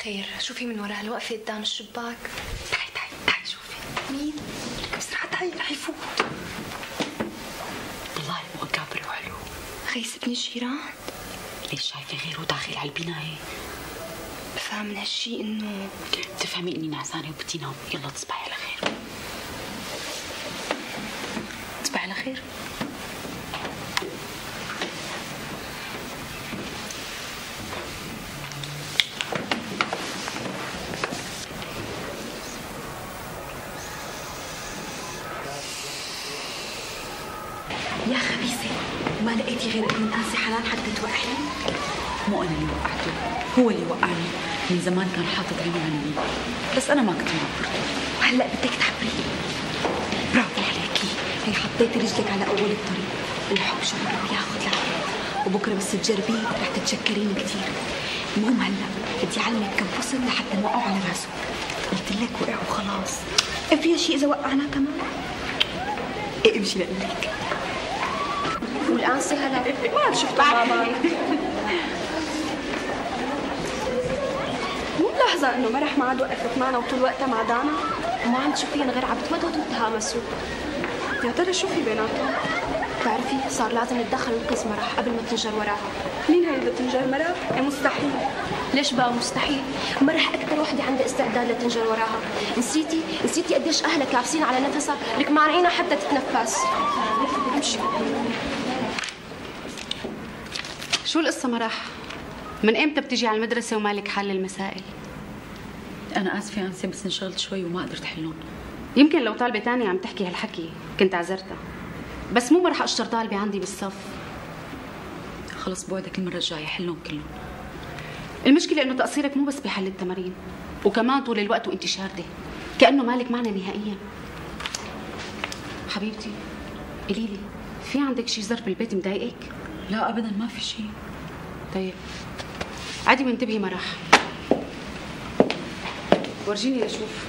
خير، شوفي من وراء الوقفة قدام الشباك. تعي شوفي. مين؟ بسرعة تعي رح يفوت. والله مو كابر وحلو. خيس ابن الجيران؟ ليش شايفة غيره داخل على البناية؟ بفهم من هالشي انه بتفهمي اني نعسانة وبدي نام. يلا تصبحي على خير. تصبحي على خير. يا خبيثة، ما لقيتي غير ابن قاسي حلال حتى توقعي؟ مو أنا اللي وقعته، هو اللي وقعني. من زمان كان حاطط عينه عني، بس أنا ما كنت معبرته. وهلا بدك تعبريه. برافو عليكي، هي حطيتي رجلك على أول الطريق. الحب شعور بياخد لعبة، وبكرة بس تجربيه رح تتشكرين كثير. المهم هلا بدي أعلمك كم فصل لحتى نوقعوا على راسه. قلت لك وقع وخلاص. فيها شيء إذا وقعنا كمان؟ إيه امشي لقلك. والأنسة هلا ما عاد شفتها مع بعض. مو ملاحظة إنه مرح ما عاد وقفت معنا وطول وقتها مع دانا؟ وما عم تشوفين غير عم بتمدهدوا وتهامسوا. يا ترى شو في بيناتهم؟ بتعرفي صار لازم نتدخل وننقذ مرح قبل ما تنجر وراها. مين هي اللي بتنجر مرح؟ إيه مستحيل. ليش بقى مستحيل؟ مرح أكثر وحدة عندها استعداد لتنجر وراها. نسيتي قديش أهلها كابسين على نفسها لك مانعينها حتى تتنفس. امشي. شو القصة مرح؟ من امتى بتجي على المدرسة ومالك حل المسائل؟ أنا آسفة أنسة، بس انشغلت شوي وما قدرت حلهم. يمكن لو طالبة تانية عم تحكي هالحكي كنت عذرتها، بس مو رح أشطر طالبة عندي بالصف. خلص بوعدك المرة الجاية حلهم كلهم. المشكلة إنه تقصيرك مو بس بحل التمارين، وكمان طول الوقت وأنت شاردة كأنه مالك معنا نهائيا. حبيبتي قوليلي، في عندك شي ظرف بالبيت مضايقك؟ لا أبدا ما في شي. طيب عادي وانتبهي مرح. ورجيني لشوف.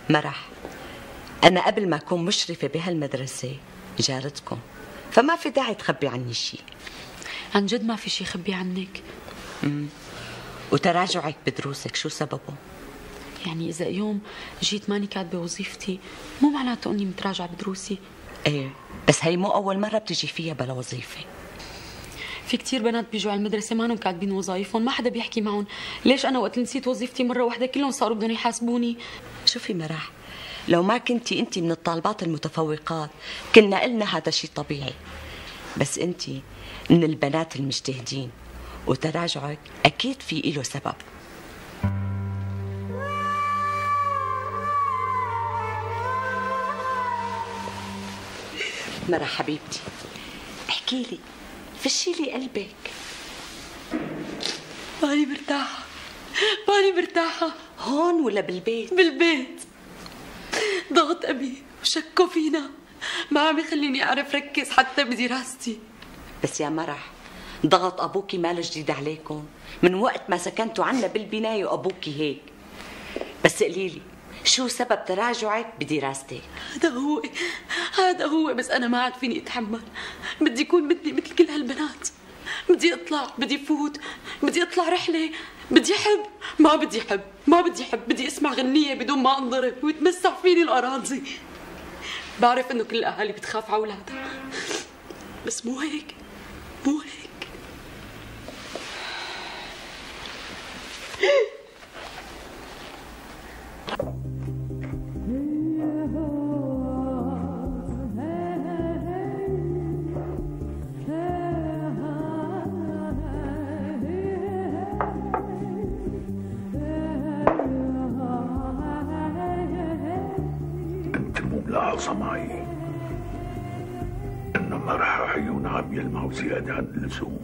مرح، أنا قبل ما أكون مشرفة بهالمدرسة جارتكم، فما في داعي تخبي عني شيء. عن جد ما في شيء خبي عنك. وتراجعك بدروسك شو سببه؟ يعني إذا يوم جيت ماني كاتبة وظيفتي مو معناته إني متراجعة بدروسي. إيه، بس هي مو أول مرة بتجي فيها بلا وظيفة. في كتير بنات بيجوا على المدرسة مانهم كاتبين وظايفهم، ما حدا بيحكي معهم. ليش أنا وقت نسيت وظيفتي مرة واحدة كلهم صاروا بدهم يحاسبوني؟ شوفي مرح، لو ما كنتي أنت من الطالبات المتفوقات كنا قلنا هذا شيء طبيعي، بس أنت من البنات المجتهدين وتراجعك أكيد في إله سبب. مرح حبيبتي، احكي لي، فشي لي قلبك. ماني مرتاحة، ماني مرتاحة. هون ولا بالبيت؟ بالبيت. ضغط أبي وشكوا فينا ما عم يخليني أعرف ركز حتى بدراستي. بس يا مرح، ضغط أبوكي ما له جديد عليكم، من وقت ما سكنتوا عنا بالبناية وأبوكي هيك. بس قليلي، شو سبب تراجعك بدراستك؟ هذا هو بس أنا ما عاد فيني أتحمل. بدي أكون مثل كل هالبنات. بدي أطلع، بدي فوت، بدي أطلع رحلة، بدي أحب. ما بدي أحب. بدي أسمع غنية بدون ما أنضرب ويتمسح فيني الأراضي. بعرف إنه كل الأهالي بتخاف على أولادها، بس مو هيك. ملاحظة معي إنه مرح عيون عم يلمعوا زيادة عن اللزوم.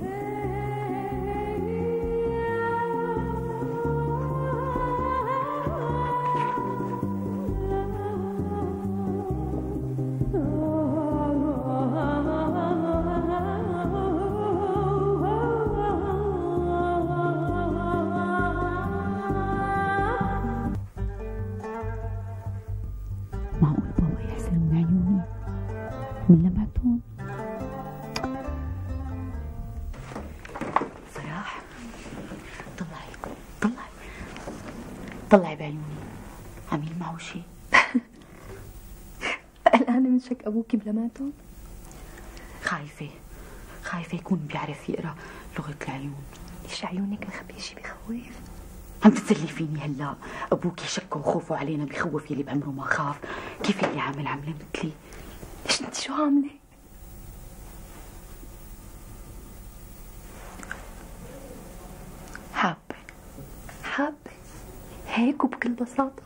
معقول بابا يحسن من عيوني من لمعتهم؟ طلعي بعيوني، عميل معه شيء؟ قلقانة من شك أبوكي بلماته؟ خايفة يكون بيعرف يقرأ لغة العيون. ليش عيونك مخبية شي بخوف؟ عم تتسلي فيني هلا؟ ابوكي شكه وخوفه علينا بخوف يلي بعمره ما خاف، كيف اللي عامل عمله مثلي؟ ليش انت شو عاملة؟ حابة هيك وبكل بساطة؟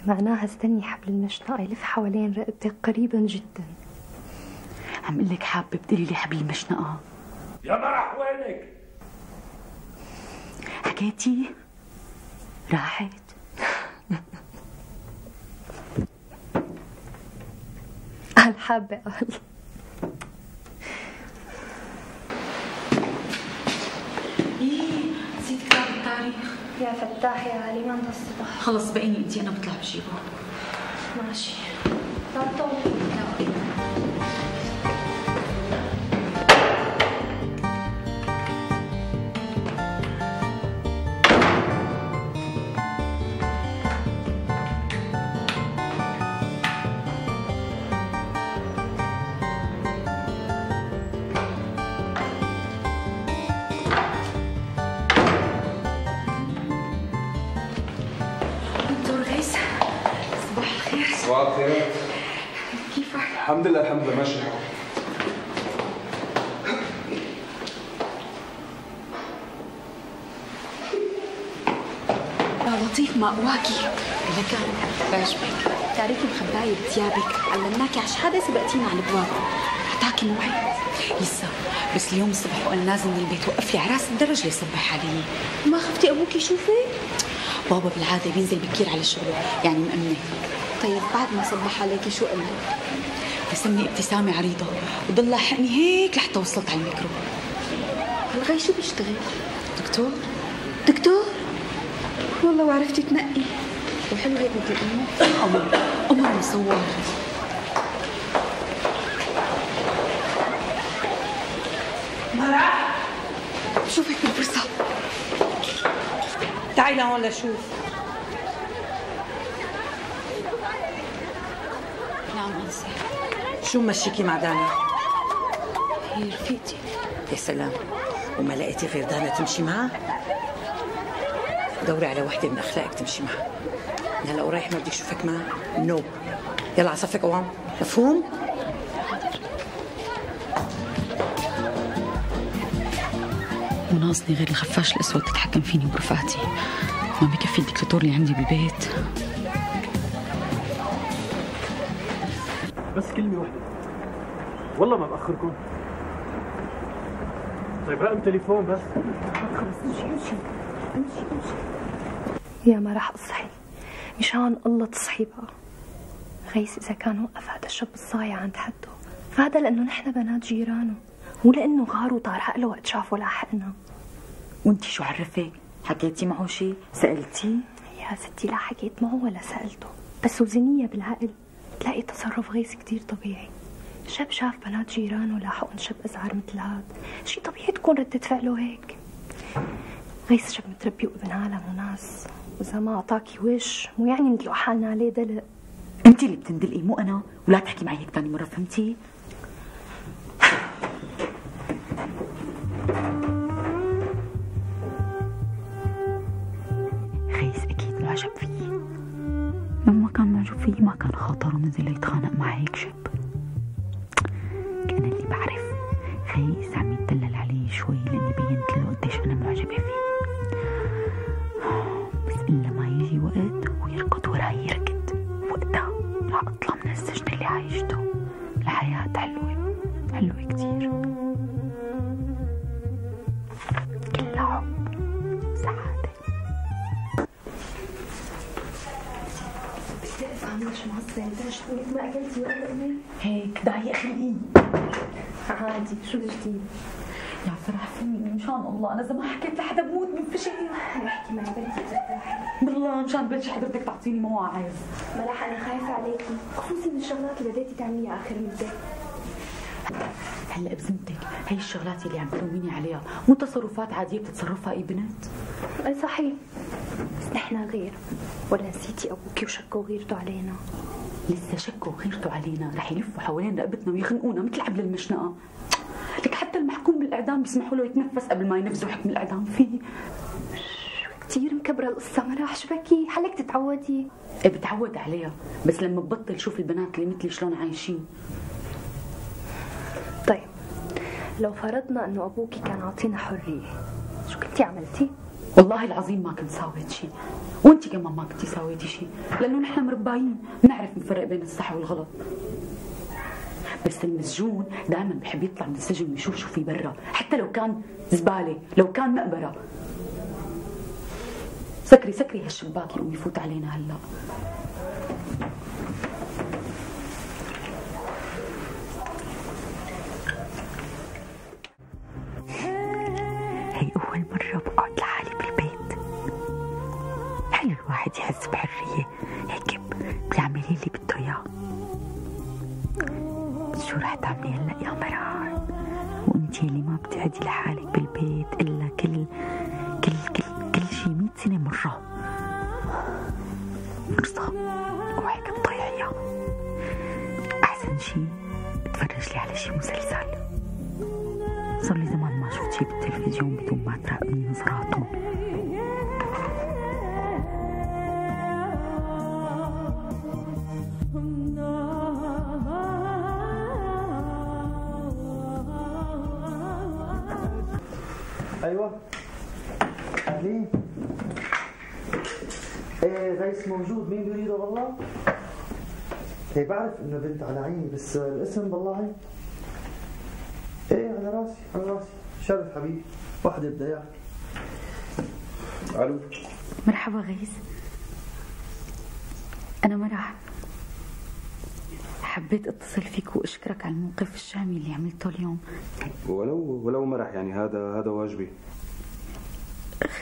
معناها استني حبل المشنقة يلف حوالين رقبتك قريبا جدا. عم قلك حابة بدلي لي حبل المشنقة. يا مرح وينك؟ حكيتي؟ راحت؟ قال حابة قال. نسيت كتاب التاريخ. يا فتاح يا علي ما انت الصبح. خلص بقيني انتي، انا بطلع بجيبه. ماشي. لا تطول. صباح الخير. كيفك؟ الحمد لله ماشي الحال. يا لطيف ما قواكي لكان بعجبك، تعرفي مخباية بثيابك، علمناكي على شحادة سبقتينا على الابواب، حتاكي موعد لسه، بس اليوم الصبح وانا نازل من البيت وقف لي عراس الدرج يصبح علي. ما خفتي ابوكي يشوفك؟ بابا بالعاده بينزل بكير على الشغل، يعني مأمنه. طيب بعد ما صبح عليكي شو قال لك؟ رسمني ابتسامه عريضه وضل لاحقني هيك لحتى وصلت على الميكرو. هالغي شو بيشتغل؟ دكتور؟ والله وعرفتي تنقي، وحلو هيك مثل امه. قمر مصور. مرح شوفك بالفرصة. تعي لهون لشوف. نعم انسه. شو ممشيكي مع دانا؟ هي رفيقتي. يا سلام، وما لقيتي غير دانا تمشي معها؟ دوري على وحده من اخلاقك تمشي معها. هلا ورايح ما بدي اشوفك معها؟ نو. يلا على صفك قوام، مفهوم؟ وناقصني غير الخفاش الاسود تتحكم فيني برفقتي. ما بكفي الدكتاتور اللي عندي بالبيت. بس كلمة واحدة، والله ما بأخركم. طيب رقم تليفون بس. خلص امشي. يا ما راح اصحي، مشان الله تصحي بقى. غيث اذا كان وقف هذا الشاب الصايع عند حده، فهذا لانه نحن بنات جيرانه، مو لانه غار وطار عقله وقت شافه لاحقنا. وانتي شو عرفك؟ حكيتي معه شيء؟ سألتي؟ يا ستي لا حكيت معه ولا سألته، بس وزنية بالعقل تلاقي تصرف غيث كتير طبيعي. شاب شاف بنات جيرانه لاحقن شاب أزعر مثل هاد، شي طبيعي تكون ردة فعله هيك. غيث شاب متربي وابن عالم وناس، وإذا ما أعطاكي وش مو يعني ندلق حالنا عليه دلق. انتي اللي بتندلقي مو أنا، ولا تحكي معي هيك تاني مرة، فهمتي؟ غيث أكيد معجب فيي. لما كان معجب فيي ما كان خاطره نزل يتخانق مع هيك شاب. أنا اللي بعرف غيث عم يتدلل علي شوي لأني بينت له قديش أنا معجبة فيه. بس إلا ما يجي وقت ويركض وراي يركض، وقتها رح أطلع من السجن اللي عايشته لحياة حلوة كتير، كلها حب سعادة. عاملة شو معصبة؟ شو ما أكلتي ولا أمي؟ هيك دعي خلقيني. عادي، شو الجديد؟ يا فرح فيني إن شاء الله، أنا إذا ما حكيت لحدا بموت من فشل. احكي معي بنتي ترتاحي. بالله مشان بلش حضرتك تعطيني مواعظ. ملاح أنا خايفة عليكي، خصوصي من الشغلات اللي بديتي تعمليها آخر مدة. هلا بذمتك هي الشغلات اللي عم تلوميني عليها مو تصرفات عادية بتتصرفها أي بنت؟ أي صحيح، بس نحن غير. ولا نسيتي ابوكي وشكوا غيرته علينا؟ لسه شكوا غيرته علينا، رح يلفوا حوالين رقبتنا ويخنقونا مثل حبل المشنقه. لك حتى المحكوم بالاعدام بيسمحوا له يتنفس قبل ما ينفذوا حكم الاعدام فيه. كثير مكبره القصه مراح، شو بكي؟ حالك تتعودي. ايه بتعود عليها، بس لما ببطل شوف البنات اللي مثلي شلون عايشين. طيب لو فرضنا انه ابوكي كان عاطينا حريه، شو كنتي عملتي؟ والله العظيم ما كنت ساويت شيء، وانت كمان ما كنتي ساويتي شيء، لانه نحن مرباين بنعرف نفرق بين الصح والغلط. بس المسجون دائما بحب يطلع من السجن ويشوف شو في برا، حتى لو كان زباله، لو كان مقبره. سكري هالشباك يقوم يفوت علينا هلا. هي أول مرة بقعد لحالي بالبيت. حلو الواحد يحس بحرية هيك بيعمل اللي بده إياه. شو رح تعملي هلا يا مرار؟ وانتي اللي ما بتقعدي لحالك بالبيت إلا كل شي 100 سنة مرة. فرصة وهيك تضيعيها. أحسن شي اتفرج لي على شي مسلسل. صار لي زمان ما شفت شي بالتلفزيون بدون ما تراقبني نظراتهم. ايوه اهلين. ايه غيث موجود، مين بيريده والله؟ ايه بعرف انه بنت على عيني، بس الاسم والله ايه على راسي. شرف حبيبي، وحده بدها اياك. الو. مرحبا غيث، انا مرح. حبيت اتصل فيك واشكرك على الموقف الشامي اللي عملته اليوم. ولو مرح، يعني هذا واجبي.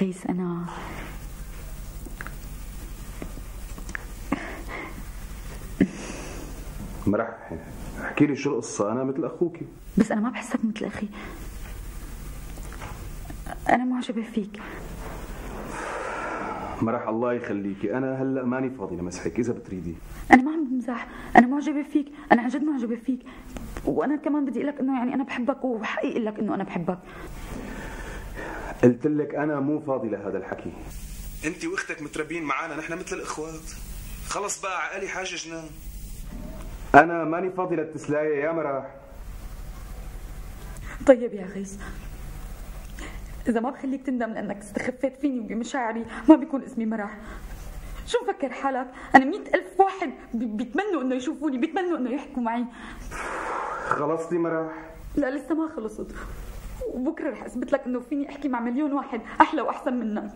غيث انا مرح، احكي لي شو القصه، انا مثل اخوكي. بس انا ما بحسك مثل اخي، انا معجبه فيك. مرح الله يخليكي، انا هلا ماني فاضي لمسحك اذا بتريدي. انا ما عم بمزح، انا معجبه فيك، انا عن جد معجبه فيك، وانا كمان بدي اقول لك انه يعني انا بحبك، وحقيقي اقول لك انه انا بحبك. قلت لك انا مو فاضي لهذا الحكي. انت واختك متربين معانا، نحن مثل الاخوات. خلص بقى عقلي حاجه جنان. انا ماني فاضي للتسلايه يا مرح. طيب يا غيث، إذا ما بخليك تندم لأنك استخفيت فيني وبمشاعري ما بيكون اسمي مرح. شو مفكر حالك؟ أنا 100,000 واحد بيتمنوا إنه يشوفوني، بيتمنوا إنه يحكوا معي. خلصتي مرح؟ لا لسه ما خلصت، وبكرة رح أثبت لك إنه فيني أحكي مع مليون واحد أحلى وأحسن منك.